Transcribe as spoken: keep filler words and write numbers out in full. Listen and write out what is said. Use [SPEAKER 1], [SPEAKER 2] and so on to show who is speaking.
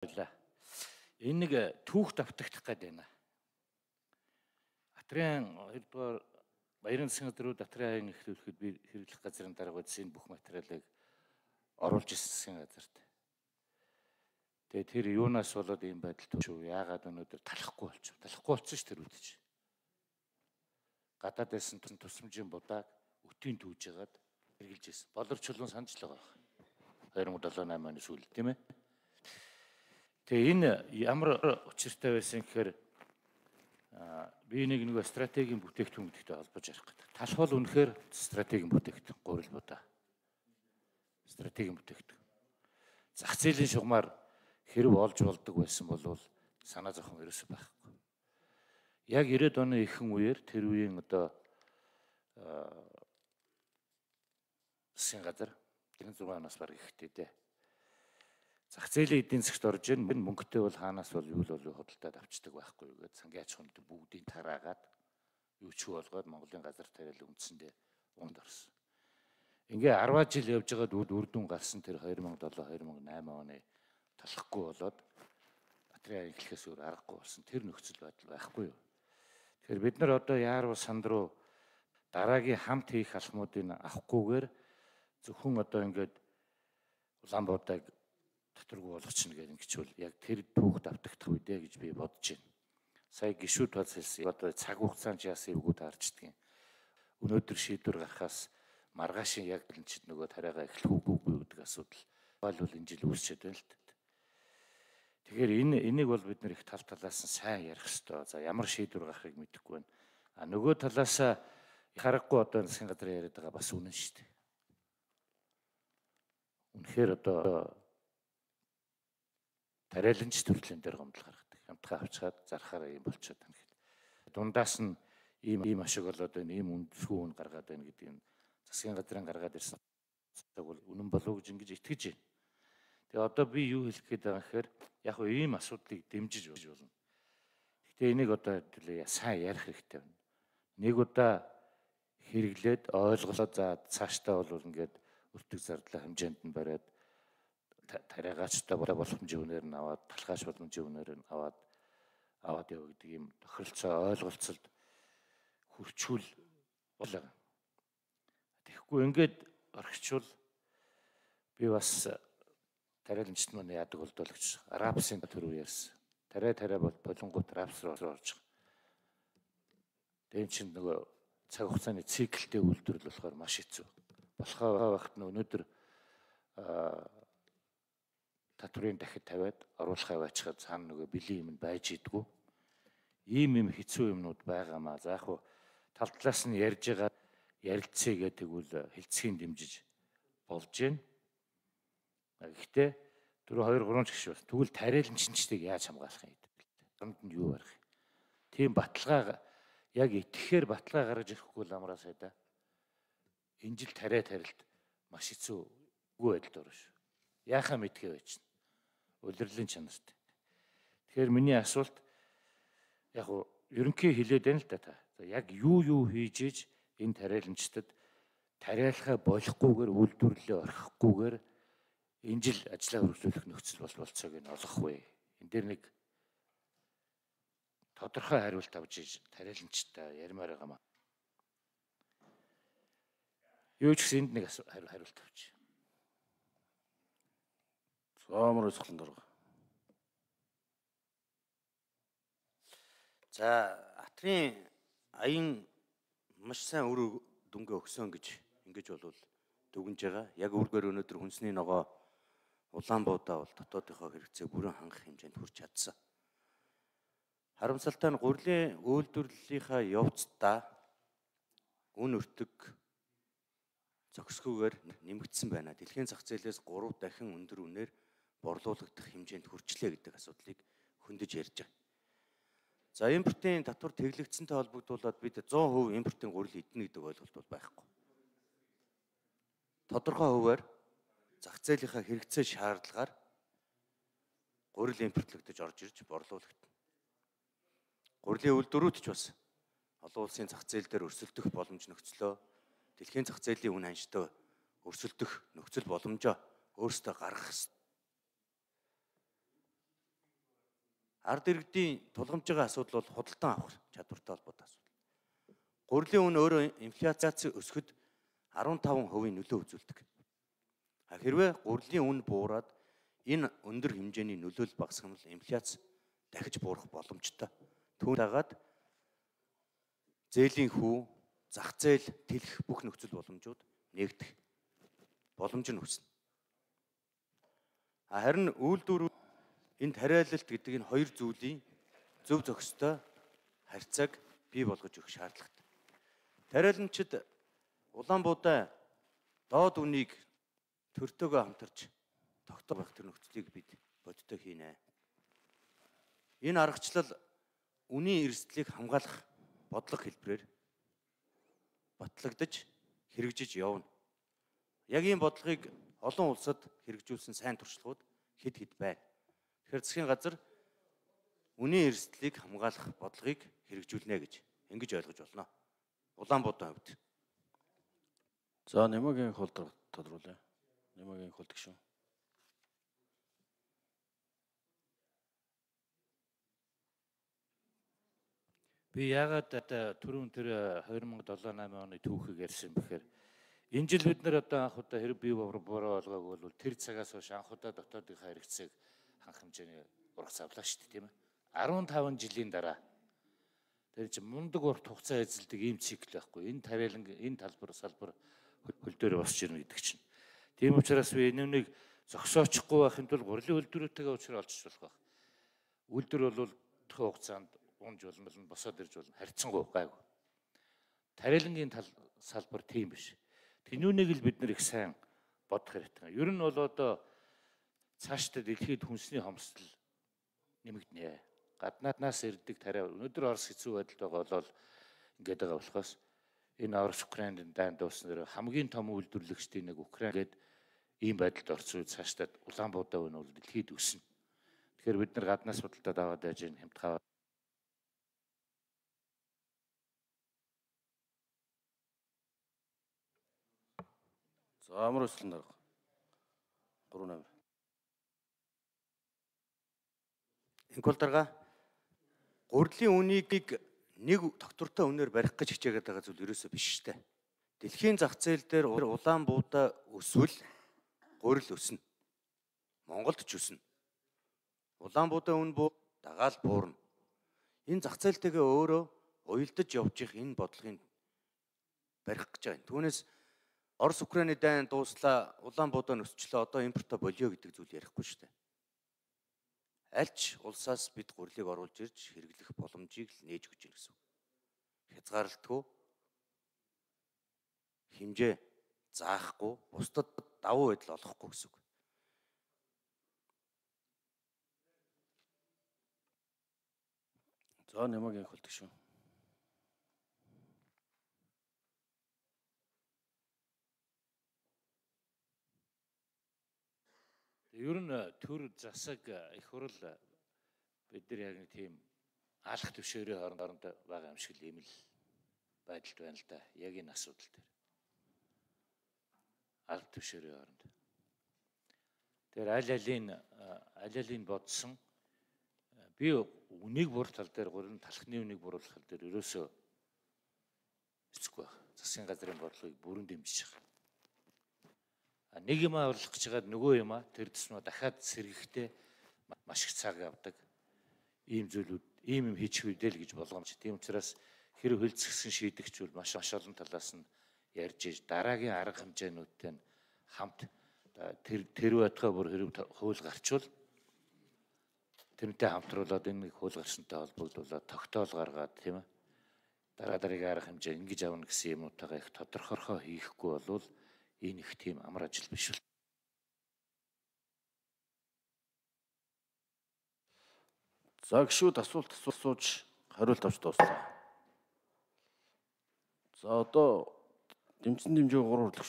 [SPEAKER 1] Энэ нэг түүх давтагдах гээд байна. Атрын хоёрдугаар Баярын засгийн газрын Атрын аян эхлүүлэхэд би хэрэглэх газрын дарга үзсэн бүх материалыг оруулж ирсэн засгийн газарт. Тэгээ тэр юунаас болоод ийм байдал төшөө яагаад өнөөдөр талахгүй болчих. Талахгүй болсон ш тэр үдчих. Гадаад байсан тусламжийн будааг өтийн түүж ягаад хэрэгжилж ирсэн. Боловч чулуун санаж л байгаа. хоёр мың долоо намын оны сүүл тийм ээ. Тэгээ энэ ямар учиртай байсан гэхээр би нэг нэг стратегийн бүтээгдэхүүн гэдэгтэй холбож ярих гэдэг. Талх бол үнэхээр стратегийн бүтээгдэхүүн гурил будаа. Стратегийн бүтээгдэхүүн. Зах зээлийн шугамар хэрэг олж болдог байсан бол санаа зовхон ерөөсөй байхгүй. Яг ирээд оны ихэнх үеэр тэр үеийн одоо засгийн газар гэрэн зураг оноос баг ихтэй дээ. Зах зээлийн эдийн засгт орж ийн мөнгөтэй бол хаанаас бол юу л бол худалдаад авчдаг байхгүй юу гэдэг сангийн аж ахуйн бүгдийг тараагаад юу ч болгоод Монголын газар тариалан үндсэндээ унд орсон. Ингээ арваа жил явж байгаад үр дүн гарсан тэр хоёр мың долоо хоёр мың найман оны талахгүй болоод Атрын эхлэхээс өөр аргагүй болсон тэр нөхцөл байдал байхгүй юу. Тэгэхээр бид нар одоо яаруу санд руу дараагийн хамт хийх алхмуудыг авахгүйгээр зөвхөн одоо ингээд Улаанбаатарыг доторгүй болгочихно гэдэг ингэчвэл яг тэр түүх давтагдах үедээ гэж би бодож байна. Сая гишүүд бац хэлсэн. Одоо цаг хугацаанд яасан эвгүүд харждаг юм. Өнөөдөр шийдвэр гарахаас маргаашийн яг л ч нөгөө тариагаа эхлэх үгүй гэдэг асуудал бол энэ жил үүсчихэд байна л дээ. Тэгэхээр энэ энийг бол бид нэр их тал талаас нь сайн ярих хэрэгтэй. За ямар шийдвэр гарахыг мэдэхгүй байна. А нөгөө талаас харахгүй одоо засгийн газрын яриад байгаа бас үнэн шүү дээ. Үнэхээр одоо тариаланч төрлийн дээр гомдол гаргадаг. Хамтгаа авчгаад зархаараа юм болчиход байна гэхэд. Дундаас нь ийм ийм ашиг болоод байна, ийм үндэсгүй үн гаргаад байна гэдэг нь засгийн газрын гаргаад ирсэн цаг бол үнэн болов гэж ингэж итгэж байна. Тэгээ одоо би юу хэлэх гээд байгаа гэхээр яг хөө ийм асуудлыг дэмжиж болно. Гэхдээ энийг одоо сайн ярих хэрэгтэй байна. Нэг удаа хэрэглээд ойлголоо за цаашдаа бол ингээд өртөг зардлаа хэмжээнд нь бариад тариагачтай боломжийн үнээр нь аваад талхааш боломжийн үнээр нь аваад аваад яв гэдэг юм тохиролцоо ойлголцолд хүрчүүл болоо. Тэгэхгүй ингээд орхичвол би бас тариаламжт маань яадаг болдоо л гэж рапсын төрөв ярьсан. Тариа тариа бол болонгууд рапс руу орж байгаа. Тэгэн чинь нөгөө цаг хугацааны циклтэй үйлдвэрлэл болохоор маш хэцүү. Болохоо багт нь өнөөдөр татврын дахид тавиад оруулахаа байцгаад цаана нөгөө бэлэн юм байж идэггүй. Ийм юм хэцүү юмнууд байгаамаа. За яг хуу тал талаас нь ярьж байгаа ярилцъя гэдэг үл хэлцгийн дэмжиж болж байна. Гэхдээ түрүү хоёр гурван ч гişвэ. Тэгвэл тариаланчнчдыг яаж хамгаалах юм гэдэг. Гомд нь юу барих юм. Тийм баталгаа яг итгэхээр баталгаа гаргаж ирэхгүй л амраа сайда. Энэ жил тариа тарилт маш хэцүү үгүй байдалд орно шүү. Яахаа мэдхээ байж. Улирлын чанарт. Тэгэхээр миний асуулт яг уу ерөнхий хэлээд байна л да та. За яг юу юу хийж иж энэ тариаламжтад тариалахаа болохгүйгээр үйлдвэрлэлээ орхихгүйгээр энэ жил ажлаа хөрвүүлэх нөхцөл бол болцоог нь олох вэ? Энд дээр нэг тодорхой хариулт авч иж тариаламжтай ярмаар байгаа маа. Юу ч гэсэн энд нэг хариулт авч.
[SPEAKER 2] Соомор өсгөлн дурга. За Атрын аян маш сайн үр дүнгээ өгсөн гэж ингэж болвол дүгнж байгаа. Яг үргээр өнөөдөр хүнсний ногоо Улаанбаатар бол дотоодынхоо хэрэгцээг бүрэн хангах хэмжээнд хүрч чадсан. Харамсалтай нь гурилын үйлдвэрлэлийнхаа явцдаа үн өртөг зохисгүйгээр нэмэгдсэн байна. Дэлхийн зах зээлээс гурав дахин өндөр үнээр борлуулагдах хэмжээнд хүрчлээ гэдэг асуудлыг хөндөж ярьж байгаа. За импортын татвар тэглэгдсэнтэй холбогдуулаад бид зуун хувь импортын гурил эднэ гэдэг ойлголт бол байхгүй. Тодорхой хувиар зах зээлийнхаа хэрэгцээ шаардлагаар гурил импортлогдож орж ирж борлуулагдана. Гурилын үйлдвэрүүд ч бас олон улсын зах зээл дээр өрсөлдөх боломж нөхцлөө дэлхийн зах зээлийн үн ханштай өрсөлдөх нөхцөл боломжоо өөрсдөө гаргах Ард иргэдийн тулгамж байгаа асуудал бол худалдан авах чадвартай холбоотой асуудал. Гурилын үн өөрөө инфляци өсөхөд арван таван хувийн нөлөө үзүүлдэг. Хэрвээ гурилын үн буураад энэ өндөр хэмжээний нөлөөлөл багасгах нь инфляц дахиж буурах боломжтой. Түүн дагаад зээлийн хүү, зах зээл тэлэх бүх нөхцөл боломжууд нээгдэх боломж нь үүснэ. Харин үйлдвэрүүд энэ тариалалт гэдэг энэ хоёр зүйлийн зөв зохистой харьцааг бий болгож өгөх шаардлагатай. Тариаламжид улаан буудаа доод үнийг төртөөгөө хамтарч тогтоох тэр нөхцөлийг бид бодиттой хийнэ. Энэ аргачлал үнийн эрсдлийг хамгаалах бодлого хэлбэрээр батлагдаж хэрэгжиж явна. Яг ийм бодлогыг олон улсад хэрэгжүүлсэн сайн туршлагууд хэд хэд байна. Тэгэхээр засгийн газар үнийн эрсдлийг хамгаалах бодлогыг хэрэгжүүлнэ гэж ингэж ойлгож болно. Улаан буудаа хувьд.
[SPEAKER 3] За Нямагийн хул тодруулъя. Нямагийн хул гişүн.
[SPEAKER 1] Би яагаад түрүүн тэр хоёр мың долоо намын оны түүхийг ярьсан бэхээр энэ жил бид нар одоо анх удаа хэрэг бий бороо олгоогүй бол тэр цагаас хойш анх удаа дотоодынхаа хэрэгцээг ханх хэмжээний ургац авлаа шүү дээ, тийм ээ. арван таван жилийн дараа тэр чинь мундаг урт хугацаа эзэлдэг ийм цикл байхгүй. Энэ тариалан энэ талбар салбар хөл дээр босч ирнэ гэдэг чинь. Тийм учраас би энэ үнийг зогсоочихгүй байхын тулд гурилын үйлдвэрүүдтэйгээ уулзрал олчих болох байх. Үйлдвэр бол тохио хугацаанд унж болно, босоод ирж болно. Харьцангуй гайгүй. Тариалангийн тал салбар тийм биш. Тэнүүнийг л бид нэр их сайн бодох хэрэгтэй. Ер нь бол одоо цаашдаа дэлхийд хүнсний хомсдол нэмэгдэнэ. Гаднааднаас ирдэг тариа өнөөдөр Орос хэцүү байдалд байгаа бол ингээд байгаа болохоос энэ Орос Украинд дайн дууснаар хамгийн том үйлдвэрлэгчдийн нэг Украин гээд ийм байдалд орсон үед цаашдаа улаан буудаа өнө бол дэлхийд өснө. Тэгэхээр бид нар гаднаас худалдаад аваад байж энэ хямдхаа
[SPEAKER 3] За амар өсөлн дарга. гурав номер.
[SPEAKER 2] Инкул дарга гурилын үнийг нэг тогтвортой үнээр барих гэж хичээгээд байгаа зүйл ерөөсөө биш шүү дээ. Дэлхийн зах зээл дээр улаан буудаа өсвөл гурил өснө. Монголд ч өснө. Улаан буудаа үн буу дагаал буурна. Энэ зах зээлтэйгээ өөрөө уялдаж явж их энэ бодлогын барих гэж байна. Түүнээс Орос Украины дайн дууслаа, улаан буудаа өсчлөө, одоо импорто болио гэдэг зүйл ярихгүй шүү дээ. Альч улсаас бид гурилыг оруулж ирж хэрэглэх боломжийг л нээж өгч ирнэ гэсэн үг. Хязгаарлалтгүй хэмжээ заахгүй, бусдад давуу байдал олохгүй гэсэн үг.
[SPEAKER 3] За Нямагийн хул гişүн.
[SPEAKER 1] Ер нь төр засаг их хурл бид нар яг нэг тийм алах төвшөөрийн хооронд байгаа юм шиг ийм л байдалд байна л да. Яг энэ асуудал дээр. Алах төвшөөрийн хооронд. Тэр аль алийн аль алийн бодсон би үнийг буруул тал дээр гурван талхны үнийг буруулах тал дээр ерөөсөө эцэхгүй байх. Засгийн газрын бодлогыг бүрэн дэмжиж байгаа. Нэг юм аврах гэж байгаад нөгөө юм а тэр төснөө дахиад сэргэхдээ маш их цаг авдаг. Ийм зүйлүүд ийм юм хийчих үедээ л гэж болгоомж. Тийм учраас хэрэг хөлцгсөн шийдэгчүүл маш маш олон талаас нь ярьж иж дараагийн арга хэмжээнүүдтэй нь хамт тэр тэр байтугай бүр хэрэг хууль гарчвал тэрнтэй хамтруулаад энэ хууль гарсантай холбогдуулаад тогтоол гаргаад тийм ээ дараа дараагийн арга хэмжээ ингэж авна гэсэн юмнуудаа их тодорхойрхоо хийхгүй болвол энэ их тийм амар ажил биш үү?
[SPEAKER 3] За гişүүд асуулт асууж хариулт авч дууслаа. За одоо дэмжсэн дэмжээ гурав